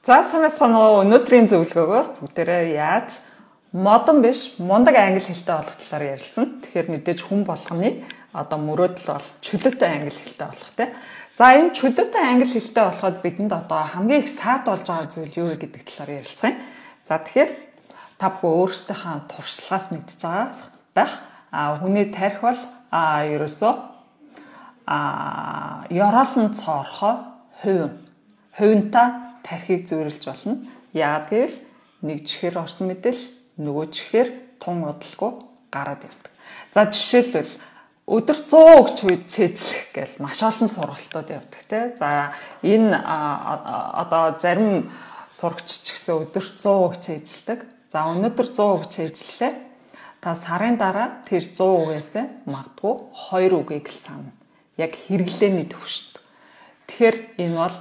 За санаасаа өнөөдрийн зөвлөгөөгөөр бүгдээрээ яаж модон биш мундаг англи хэлтэй болох талаар ярилцсан. Тэгэхээр мэдээж хүн болгоны одоо мөрөөдөл бол чөлөөтэй англи хэлтэй болох тий. За энэ чөлөөтэй англи хэлтэй болоход бидэнд одоо хамгийн их саад болж байгаа зүйл юу вэ гэдэг талаар ярилцсан юм. За тэгэхээр та бүхэн өөрсдийнхээ туршлагаас мэдж байгаа байх. Хүний тарих бол ерөөсөө ёроолн цоорхоо хувинта тархийг зөөрлж болно. Яагаад гэвэл нэг чихэр орсон мэдээлэл нөгөө чихэр тун удалгүй гараад явдаг. За жишээлбэл өдөр 100 гэж цээжлэх гээл маш олон сургалтууд явдаг тий. За энэ одоо зарим сурагч ч гэсэн өдөр 100 гэж цээжлдэг. За өнөөдөр 100 гэж цээжлэлээ. Та сарын дараа тэр 100 үгээс магадгүй 2 үгийг л сана. Яг хэрэглээний төвшөнд. Тэгэхээр энэ бол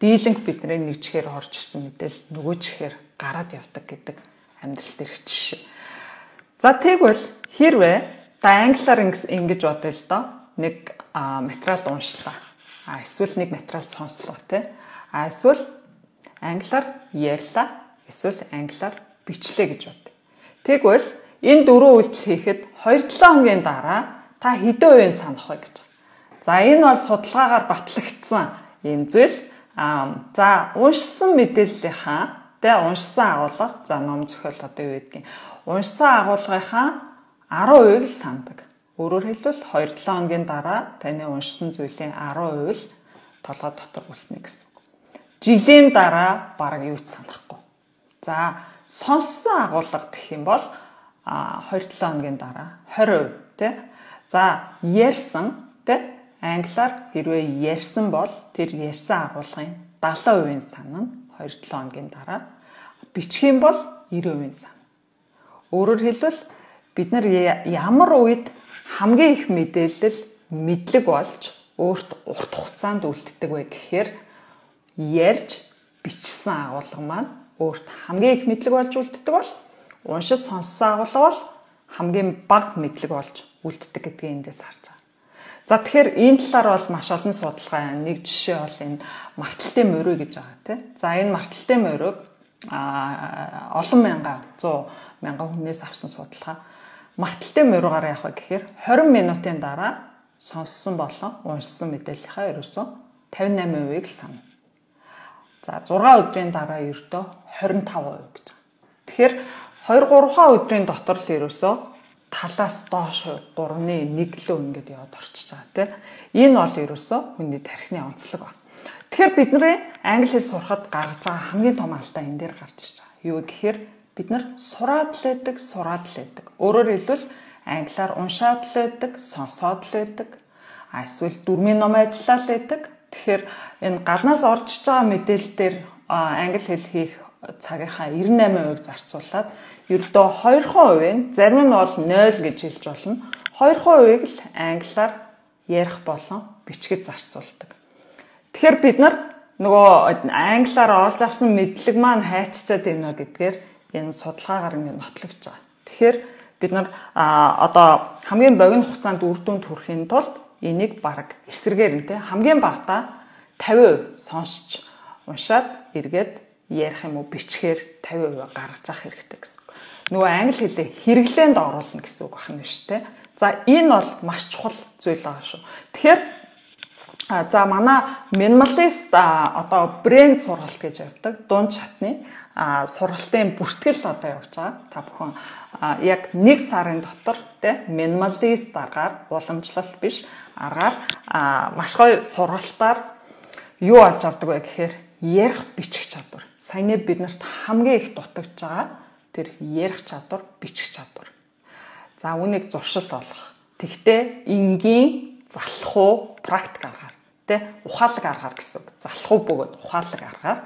дийлэнх бидний нэг чихээр орж ирсэн мэдээлэл нөгөө чихээр гараад явдаг гэдэг амьдралд ирэх жишээ. За тэгвэл хэрвээ та англиар ингэж бодъё л доо. Нэг материал уншлаа. Эсвэл нэг материал сонслоо тий. Эсвэл англиар ярьлаа. Эсвэл англиар бичлээ гэж бодъё. Тэгвэл энэ дөрвөн үйлдэл хийхэд 2-7 хоногийн дараа та хэдэн үеийн санах вэ гэж. За энэ бол судалгаагаар батлагдсан юм зүйл. За уншсан мэдээллийнхаа тэ уншсан агуулга за ном зохиол одоо юу гэдгийг уншсан агуулгынхаа 10% л сандаг. Өөрөөр хэлбэл 2-7 хоногийн дараа таны уншсан зүйлийн 10% л толгой дотор үлдэнэ гэсэн. Жилийн дараа бараг юу ч санахгүй. За сонссон агуулга гэх юм бол 2-7 хоногийн дараа 20% тэ. За ярьсан тэ англиар хэрвээ ярьсан бол тэр ярьсан агуулгын 70% санана 2-7 хоногийн дараа. Бичих юм бол 90% санана. Өөрөөр хэлбэл бид нар ямар үед хамгийн их мэдээлэл мэдлэг болж өөрт урт хугацаанд үлддэг вэ гэхээр ярьж бичсэн агуулга маань өөрт хамгийн их мэдлэг болж үлддэг бол уншиж сонссон агуулга бол хамгийн бага мэдлэг болж үлддэг гэдгийг эндээс харж байгаа. За тэгэхээр энэ талаар бол маш олон судалгаа байна. Нэг жишээ бол энэ марталтын мөрөө гэж байгаа тийм. За энэ марталтын мөрөөг олон мянган 100 мянган хүнээс авсан судалгаа. Марталтын мөрөөгаар яах вэ гэхээр 20 минутын дараа сонссон болон уншсан мэдээллийнхаа ерөөсөө 58%-ийг л санана. За 6 өдрийн дараа ердөө 25% гэж. Тэгэхээр 2-3 өдрийн дотор л ерөөсөө талаас доош 3-ны 1 лөө ингэж яваад орчиж байгаа тийм. Энэ бол ерөөсөө хүний тархины онцлог ба. Тэгэхээр бидний англи хэл сурахад гаргаж байгаа хамгийн том алдаа энэ дээр гарч ирж байгаа. Юу гэхээр бид нар сураад л байдаг. Өөрөөр хэлбэл англиар уншаад л байдаг, сонсоод л байдаг. Эсвэл дөрмийн ном ажиллаад л байдаг. Тэгэхээр энэ гаднаас орж иж байгаа мэдээлэл дээр англи хэл хийх цагийнхаа 98% зарцуулаад ердөө 2% нь зарим нь бол 0 гэж хэлж болно. 2% л англиар ярих болон бичгэд зарцуулдаг. Тэгэхээр бид нар нөгөө англиар олж авсан мэдлэг маань хайцчаад байна гэдгээр энэ судалгаагаар ингэ нотлогдож байгаа. Тэгэхээр бид нар одоо хамгийн богино хугацаанд үр дүнд хүрэхин тулд энийг бараг эсрэгээр нь те хамгийн багадаа 50% сонсч уншаад эргээд ярих юм уу бичгээр 50% гаргаж авах хэрэгтэй гэсэн. Нөгөө англи хэлээ хэрэглээнд оруулна гэсэн үг байна шүү дээ. За энэ бол маш чухал зүйл байгаа шүү. Тэгэхээр за манай минималист одоо брэнд сургалт гэж явдаг дунд чатны сургалтын бүртгэл одоо явж байгаа. Та бүхэн яг 1 сарын дотор те минималист аргаар уламжлалт биш аргаар маш гоё сургалтаар юу олж авдаг вэ гэхээр ярих бичих чадвар. Саяны биднэрт хамгийн их дутагдж байгаа тэр ярих чадвар, бичих чадвар. За үүнийг зуршил болгох. Тэгтээ энгийн залхуу практик аргаар тэ ухаалаг аргаар гэсэн үг. Залхуу бөгөөд ухаалаг аргаар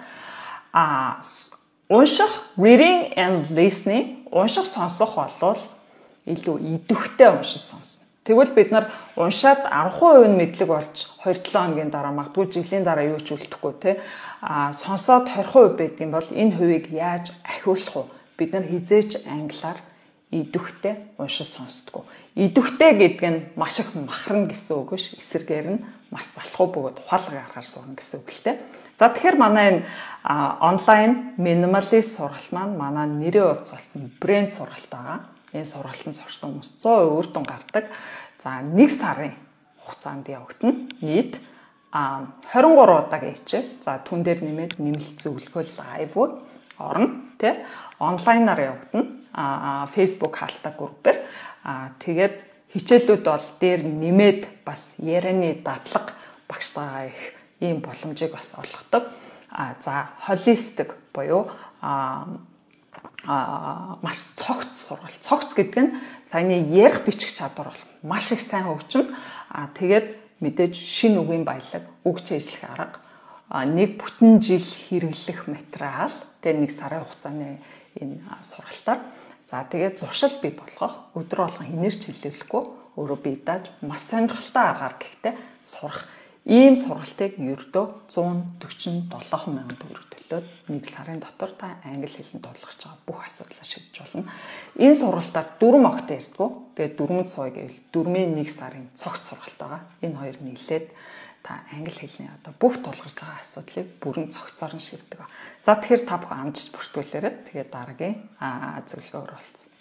унших reading and listening унших сонсох болвол илүү идэвхтэй уншиж сонсно. Тэгвэл бид нар уншаад 10% нь мэдлэг болж 2-7 хоногийн дараа магадгүй жилийн дараа юу ч үлдэхгүй те сонсоод 20% байдгийн бол энэ хувийг яаж ахиулах вэ? Бид нар хизээч англиар идэвхтэй уншиж сонсдгоо. Идэвхтэй гэдэг нь маш их махарна гэсэн үг биш. Эсрэгээр нь маш залхуу бөгөөд ухаалаг аргаар сурна гэсэн үг л дээ. За тэгэхээр манай энэ онлайн минималист сургалт маань манай нэрээ утас болсон брэнд сургалт байгаа. Энэ сургалтанд сурсан хүмүүс 100% үр дүн гардаг. За 1 сарын хугацаанд явагдана. Нийт 23 удаагийн хичээл. За түн дээр нэмээд нэмэлт зөвлөгөөл лайвууд орно, тий? Онлайнаар явагдана. Facebook хаалтаа группээр. Тэгээд хичээлүүд бол дээр нэмээд бас ярианы дадлага багштайгаа их ийм боломжийг бас олгодог. За холистик буюу маш цогц сургалт. Цогц гэдэг нь саяны ярих бичих чадвар бол маш их сайн хөгжим. Тэгээд мэдээж шинэ үгийн баялаг, үг чийжлэх арга, нэг бүтэн жил хэрэглэх материал, тэгээд 1 сарын хугацааны энэ сургалтаар. За тэгээд зуршил бий болгох, өдөр болгон хинээрч хэллэвлэхгүй, өөрөө бие дааж маш сонирхолтой аргаар гэхдээ сурах. Ийм сургалтыг ердөө 147,000 төгрөг төлөөд 1 сарын дотор та англи хэлэнд дуулгаж байгаа бүх асуудлаа шийдэж болно. Энэ сургалтаар 4 огт ярьдгүү. Тэгээд 4 сая гэвэл 4-ийн 1 сарын цогц сургалт байгаа. Энэ хоёр нийлээд та англи хэлний одоо бүх тулгарч байгаа асуудлыг бүрэн цогцоор нь шийддэг. За тэгэхээр та бүхэн амжилт бүртгүүлээрэй. Тэгээд дараагийн зөвлөгөөр уулзъя.